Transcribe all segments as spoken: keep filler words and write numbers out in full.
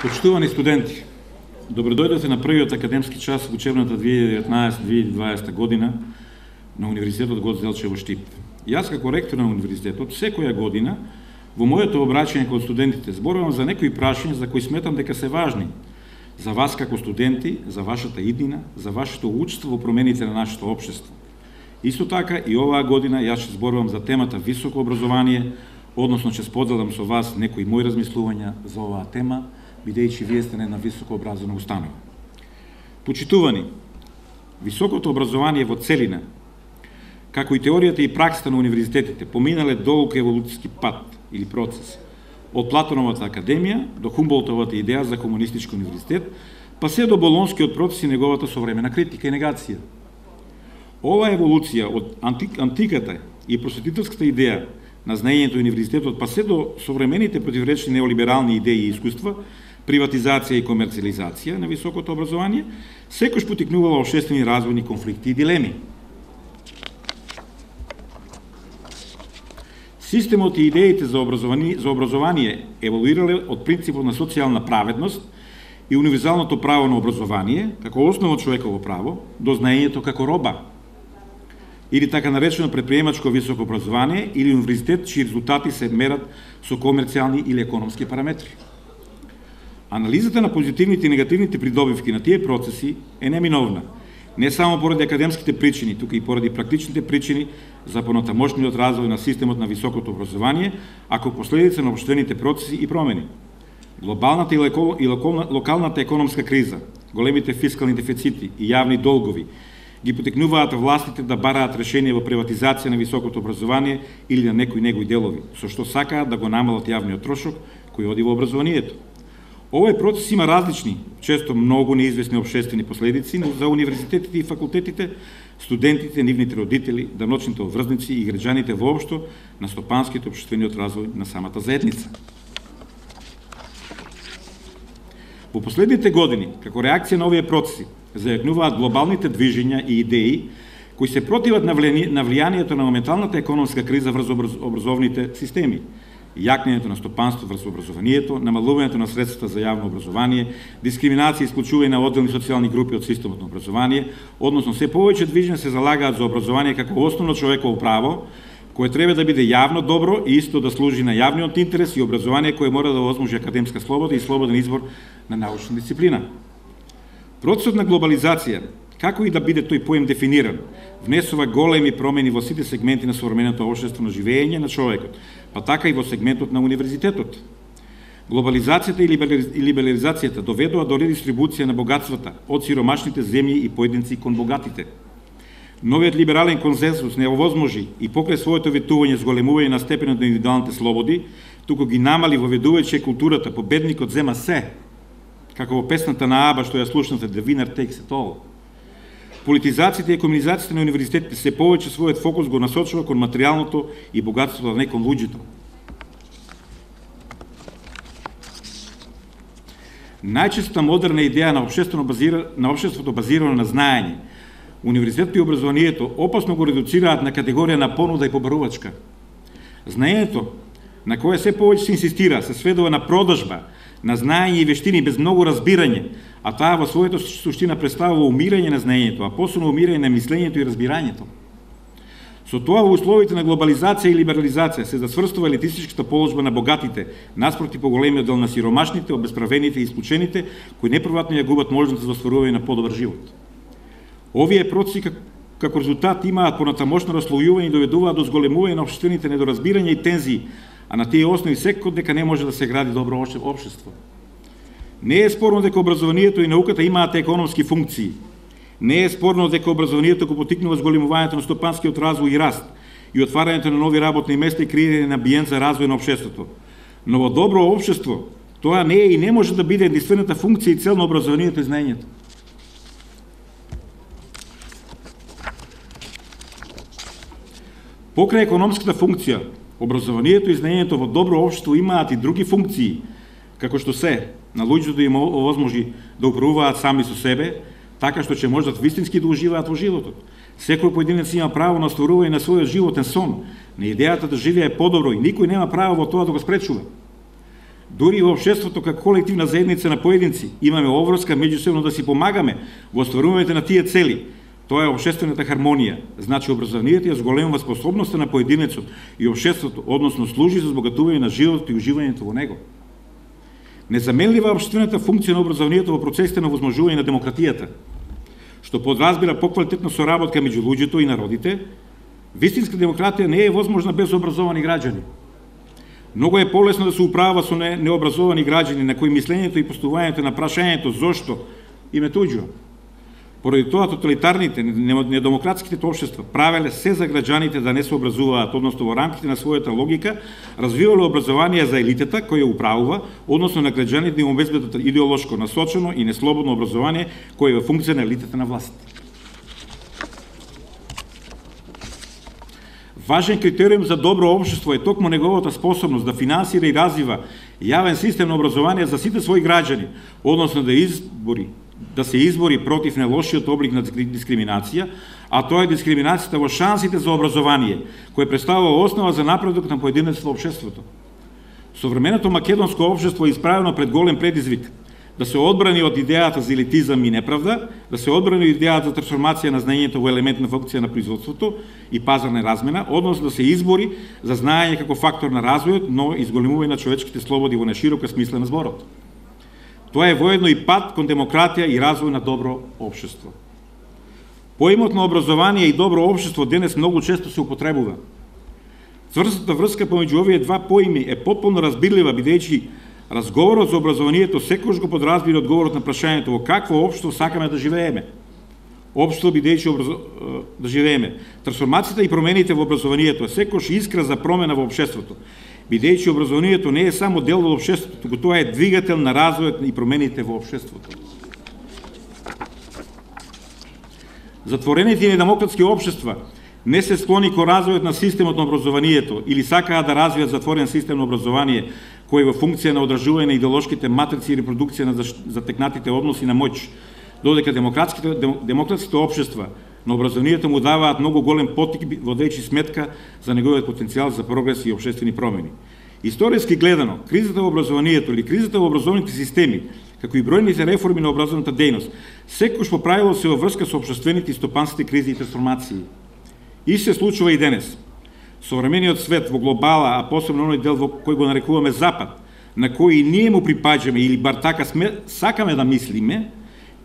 Почитувани студенти, добродојдете на првиот академски час во учебната две илјади и деветнаесета две илјади и дваесета година на Универзитетот Гоце Делчев во Штип. Јас како ректор на универзитетот секоја година во моето обраќање кон студентите зборувам за некои прашања за кои сметам дека се важни за вас како студенти, за вашата иднина, за вашето учество во промените на нашето општество. Исто така и оваа година јас ќе зборувам за темата високо образование, односно ќе споделам со вас некои мои размислувања за оваа тема, бидејќи вие сте една високо образована установа. Почитувани, високото образование во целина, како и теоријата и праксата на универзитетите, поминале долг еволуцијски пат или процес, од Платоновата академија до Хумболтовата идеја за комунистички универзитет, па се до Болонскиот процес и неговата современа критика и негација. Ова еволуција од антик, антиката и просветителската идеја на знаењето и универзитетот, па се до современите противречни неолиберални идеи и искуства, приватизација и комерциализација на високото образование, секој потикнувала општествени развојни конфликти и дилеми. Системот и идеите за образование, за образование еволуирале од принципот на социјална праведност и универзалното право на образование, како основно човеково право, до знаењето како роба, или така наречено предприемачко високо образование, или универзитет чии резултати се мерат со комерцијални или економски параметри. Анализата на позитивните и негативните придобивки на тие процеси е неминовна, не само поради академските причини, туку и поради практичните причини за понатамошниот развој на системот на високото образование, ако последица на општествените процеси и промени. Глобалната и локалната економска криза, големите фискални дефицити и јавни долгови ги потекнуваат властите да бараат решение во приватизација на високото образование или на некои негови делови, со што сакаат да го намалат јавниот трошок кој оди во образованието. Овој процес има различни, често многу неизвестни општествени последици за универзитетите и факултетите, студентите, нивните родители, даночните обврзници и граѓаните воопшто на стопанскиот општествениот развој на самата заедница. Во последните години, како реакција на овие процеси, зајакнуваат глобалните движења и идеи кои се противат на влијанието на моменталната економска криза врз образовните системи, јакнењето на стопанство врз образованието, намалувањето на средствата за јавно образование, дискриминација и исклучување на одделни социјални групи од системот на образование, односно се повеќе движења се залагаат за образование како основно човеково право, кое треба да биде јавно добро и исто да служи на јавниот интерес и образование кое мора да возможи академска слобода и слободен избор на научна дисциплина. Процесот на глобализација, како и да биде тој поем дефиниран, внесува големи промени во сите сегменти на современото општество на живење на човекот, па така и во сегментот на универзитетот. Глобализацијата и либерализацијата доведоа до редистрибуција на богатствата од сиромашните земји и поединци кон богатите. Новиот либерален консенсус не овозможи и покрај своето ветување зголемување на степенот на индивидуалните слободи, туку ги намали воведувајќи културата победникот зема се, како во песната на Аба што ја слушнате The Winner Takes It All. Политизацијата и комунизацијата на универзитетите се повеќе својот фокус го насочува кон материјалното и богатството, а не кон луѓето. Најчеста модерна идеја на општествено базира, на општеството базирано на знаење, универзитетот и образованието опасно го редуцираат на категорија на понуда и побарувачка. Знаењето, на кое се повеќе се инсистира, се сведува на продажба, на знаење и вештини без многу разбирање, а таа во својата суштина представува умирање на знаењето, а посебно умирање на мислењето и разбирањето. Со тоа во условите на глобализација и либерализација се засврстува елитистичката положба на богатите, наспроти поголемиот дел на сиромашните, обесправените и исклучените, кои неповратно ја губат можност за остварување на подобар живот. Овие процеси како резултат имаат понатамошно раслојување и доведуваат до зголемување на општествените недоразбирања и тензии, а на тие основи секој дека не може да се гради добро општество. Не е спорно дека образованието и науката имаат економски функции. Не е спорно дека образованието го потикнува зголемувањето на стопанскиот развој и раст и отварањето на нови работни места и креирање на амбиент за развој на општеството. Но во добро општество тоа не е и не може да биде единствената функција и цел на образованието и знаењето. Покрај економската функција, образованието и знаењето во добро општество имаат и други функции, како што се на луѓето да им овозможи да управуваат сами со себе, така што ќе можат вистински да уживаат во животот. Секој поединец има право на остварување на својот животен сон, на идејата да живее подобро и никој нема право во тоа да го спречува. Дури во општеството како колективна заедница на поединци имаме обврска меѓусебно да си помагаме во остварувањето на тие цели. Тоа е општествената хармонија. Значи образованието ја зголемува способноста на поединецот и општеството, односно служи за збогатување на животот и уживањето во него. Незаменлива општествената функција на образованието во процесите на возможување на демократијата, што подразбира поквалитетна соработка меѓу луѓето и народите. Вистинска демократија не е возможна без образовани граѓани. Многу е полесно да се управува со необразовани граѓани на кои мислењето и постувањето на прашањето зошто им е туѓо. Поради тоа тоталитарните, недемократските општества правеле се за граѓаните да не се образуваат, односно во рамките на својата логика, развивале образование за елитата која управува, односно на граѓаните да им обезбедат идеолошко насочено и неслободно образование кој е во функција на елитата на власт. Важен критериум за добро општество е токму неговата способност да финансира и развива јавен систем на образование за сите своји граѓани, односно да избори да се избори против најлошиот облик на дискриминација, а тоа е дискриминацијата во шансите за образование, кој представува основа за напредок на поединецот во општеството. Современото македонско општество е исправено пред голем предизвик да се одбрани од идејата за елитизам и неправда, да се одбрани од идејата за трансформација на знаењето во елемент на функција на производството и пазарна размена, односно да се избори за знаење како фактор на развојот, но изголемување на човечките слободи во најширока смисла на зборот. Тоа е воедно и пат кон демократија и развој на добро општество. Поимот на образование и добро општество денес многу често се употребува. Цврстата врска помеѓу овие два поими е потполно разбирлива, бидејќи разговорот за образованието секогаш го подразбира одговорот на прашањето во какво општество сакаме да живееме. Општество бидејќи образ... да живееме. Трансформацијата и промените во образованието е секогаш искра за промена во општеството, бидејќи образованието не е само дел од општеството, туку тоа е двигател на развојот и промените во општеството. Затворените и недемократски општества не се склони кон развојот на системот на образованието или сакаат да развијат затворен систем на образование кој во функција на одржување на идеолошките матрици и репродукција на затекнатите односи на моќ, додека демократските демократските општества на образованието му даваат многу голем поттик водејќи сметка за неговиот потенцијал за прогрес и општествени промени. Историски гледано, кризата во образованието или кризата во образовните системи, како и бројните реформи на образовната дејност, секогаш по правило се во врска со општествените и стопанските кризи и трансформации. И се случува и денес. Современиот свет во глобала, а посебно оној дел во кој го нарекуваме Запад, на кој и ние му припаѓаме или бар така сме, сакаме да мислиме,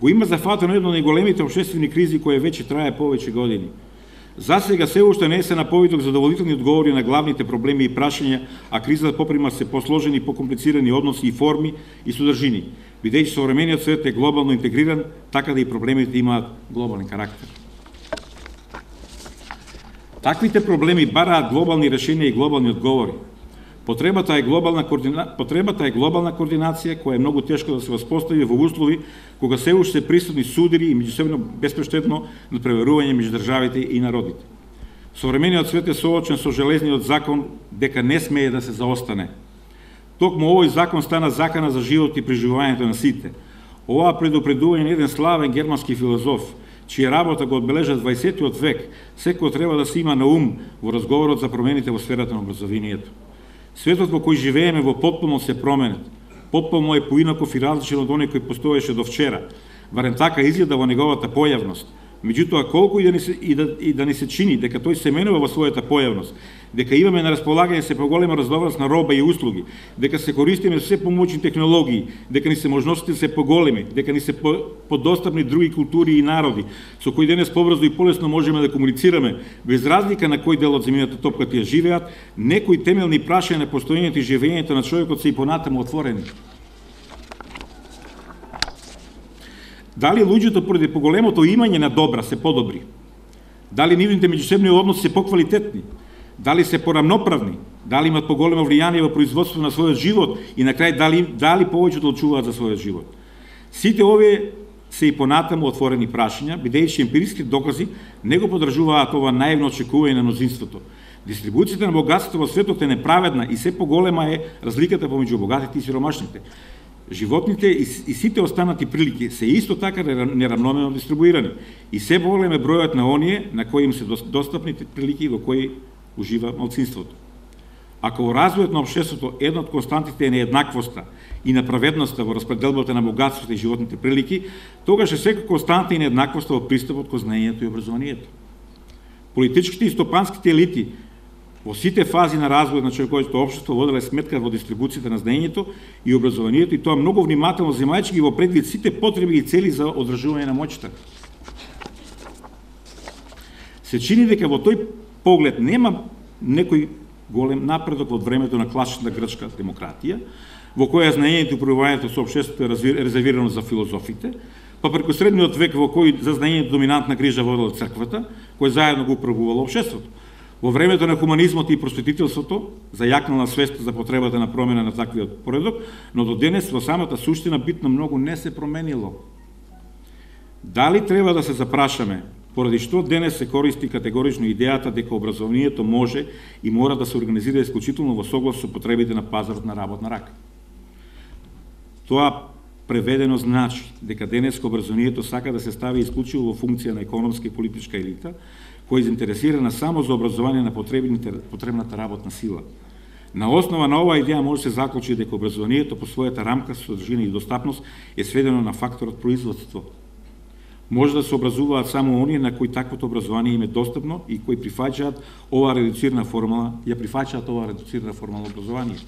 го има зафатено едно од најголемите општествени кризи која веќе трае повеќе години. Засега се уште не се на повиток задоволителни одговори на главните проблеми и прашања, а кризата поприма се посложени и покомплицирани односи и форми и содржини, бидејќи современиот свет е глобално интегриран, така да и проблемите имаат глобален карактер. Таквите проблеми бараат глобални решенија и глобални одговори. Потребата е глобална координа... потребата е глобална координација која е многу тешко да се воспостави во услови кога се уште се присутни судири и меѓусебно безпрештетно надпреварување меѓу државите и народите. Современиот свет е соочен со железниот закон дека не смее да се заостане. Токму овој закон стана закана за живот и преживувањето на сите. Ова предупредување на еден славен германски филозоф, чија работа го одбележа дваесеттиот век, секој треба да се има на ум во разговорот за промените во сферата на образованието. Светот во кој живееме во потполно се променет. Потполно е поинаков и различен од оној кој постоеше до вчера. Барем така изгледа во неговата појавност. Меѓутоа, колку и да, ни се, и, да, и да ни се чини дека тој се менува во својата појавност, дека имаме на располагање се поголема разноврст на роба и услуги, дека се користиме се помоćни технологии, дека ни се можностите се поголеми, дека ни се по, подостапни други култури и народи, со кои денес побрзо и полесно можеме да комуницираме, без разлика на кој дел од земјината топка тие живеат, некои темелни прашања на постоењето и живењето на човекот се и понатаму отворени. Дали луѓето поради поголемото имање на добра се подобри? Дали нивните меѓусебни односи се поквалитетни? Дали се порамноправни? Дали имат поголемо влијание во производството на својот живот и на крај дали, дали повеќе одлучуваат за својот живот? Сите овие се и понатаму отворени прашања, бидејќи емпириски докази не го подржуваат ова наивно очекување на мнозинството. Дистрибуцијата на богатството во светот е неправедна и се поголема е разликата помеѓу богатите и сиромашните. Животните и сите останати прилики се исто така неравномерно дистрибуирани и се поголем е бројот на оние на кои им се достапните прилики во кои ужива малцинството. Ако во развојот на општеството една од константите е нееднаквоста и неправедноста во распределбата на богатството и животните прилики, тогаш е секоја константа и нееднаквоста во пристапот кон знаењето и образованието. Политичките и стопанските елити во сите фази на развојот на човековото општество воделе сметка во дистрибуцијата на знаењето и образованието, и тоа многу внимателно земајќи ги во предвид сите потреби и цели за одржување на моќта. Се чини дека во тој поглед нема некој голем напредок од времето на класична грчка демократија, во која знаењето и управувањето со општеството е резервирано за филозофите, па преку средниот век во кој за знаењето доминантна грижа водела црквата, кој заедно го управувало општеството. Во времето на хуманизмот и просветителството зајакнала свеста за потребата на промена на таквиот поредок, но до денес во самата суштина битно многу не се променило. Дали треба да се запрашаме поради што денес се користи категорично идејата дека образованието може и мора да се организира исклучително во соглас со потребите на пазарот на работна рака? Тоа преведено значи дека денеска образованието сака да се стави исклучиво во функција на економска и политичка елита, која е заинтересирана само за образование на потребната работна сила. На основа на оваа идеја може да се заклучи дека образованието по својата рамка, содржина и достапност е сведено на факторот производство. Може да се образуваат само оние на кои таквото образование им е достапно и кои прифаќаат оваа редуцирана формула, ја прифаќаат оваа редуцирана формула образование.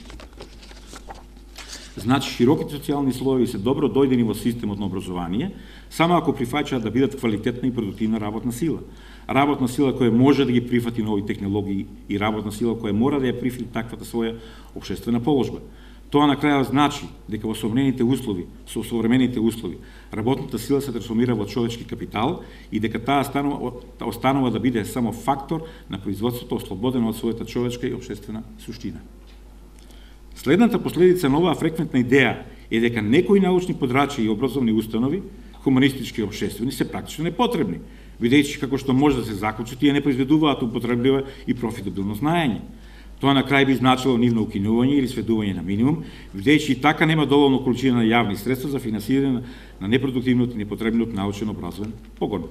Значи, широките социјални слоеви се добро дојдени во системот на образование, само ако прифаќаат да бидат квалитетна и продуктивна работна сила. Работна сила која може да ги прифати нови технологии и работна сила која мора да ја прифати таквата своја општествена положба. Тоа на крајот значи дека во современите услови, со современите услови, работната сила се трансформира во човечки капитал и дека таа останува, останува да биде само фактор на производството, ослободено од својата човечка и општествена суштина. Следната последица на оваа фреквентна идеја е дека некои научни подрачја и образовни установи, хуманистички и општествени, се практично непотребни, бидејќи како што може да се заклучи, тие не произведуваат употребливо и профитабилно знаење. Тоа на крај би значило нивно укинување или сведување на минимум, бидејќи и така нема доволно количина на јавни средства за финансирање на непродуктивниот и непотребниот научен образовен погон.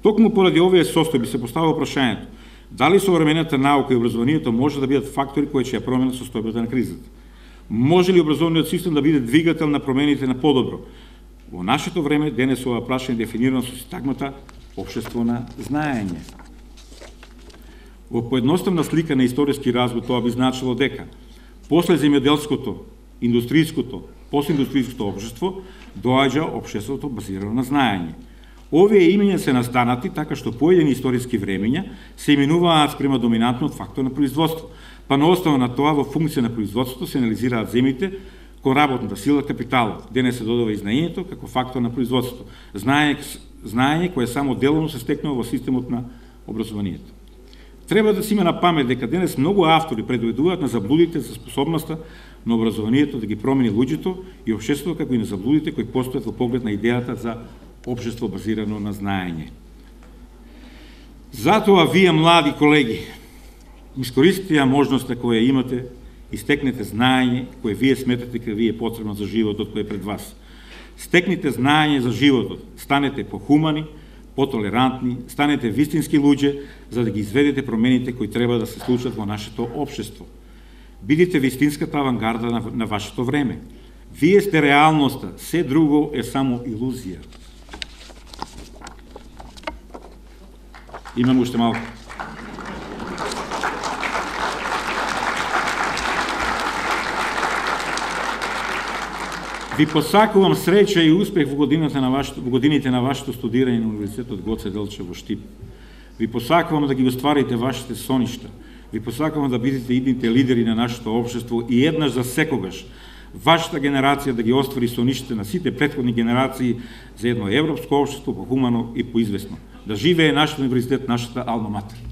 Токму поради овие состојби се поставува прашањето дали современата наука и образованието може да бидат фактори кои ќе ја променат состојбата на кризата. Може ли образовниот систем да биде двигател на промените на подобро? Во нашето време денес ова прашање е дефинирано со ситагмата општество на знаење. Во поедноставна слика на историски развој тоа би значило дека после земјоделското, индустријското, постиндустријското општество доаѓа општеството базирано на знаење. Овие имења се настанати така што поедини историски времења се именуваат спрема доминантниот фактор на производство, па на основа на тоа во функција на производството се анализираат земите кон работната сила капиталот. Денес се додава и знаењето како фактор на производството. Знаење, знаење кое само деловно се стекнува во системот на образованието. Треба да се има на памет дека денес многу автори предвидуваат на заблудите за способноста на образованието да ги промени луѓето и општеството, како и на заблудите кои постојат во поглед на идејата за општество базирано на знаење. Затоа вие, млади колеги, искористите ја можноста која имате и стекнете знаење кое вие сметате дека ви е потребно за животот кој е пред вас. Стекнете знаење за животот, станете похумани, потолерантни, станете вистински луѓе за да ги изведете промените кои треба да се случат во нашето општество. Бидите вистинската авангарда на, на вашето време. Вие сте реалноста, се друго е само илузија. Имам уште малку. Ви посакувам среќа и успех во годините на вашето, во годините на вашето студирање на Универзитетот Гоце Делчев во Штип. Ви посакувам да ги остварите вашите соништа. Ви посакувам да бидете идните лидери на нашето општество и еднаш за секогаш вашата генерација да ги оствари соништите на сите претходни генерации за едно европско општество похумано и поизвестно. Да живее нашиот универзитет, нашата алма матер.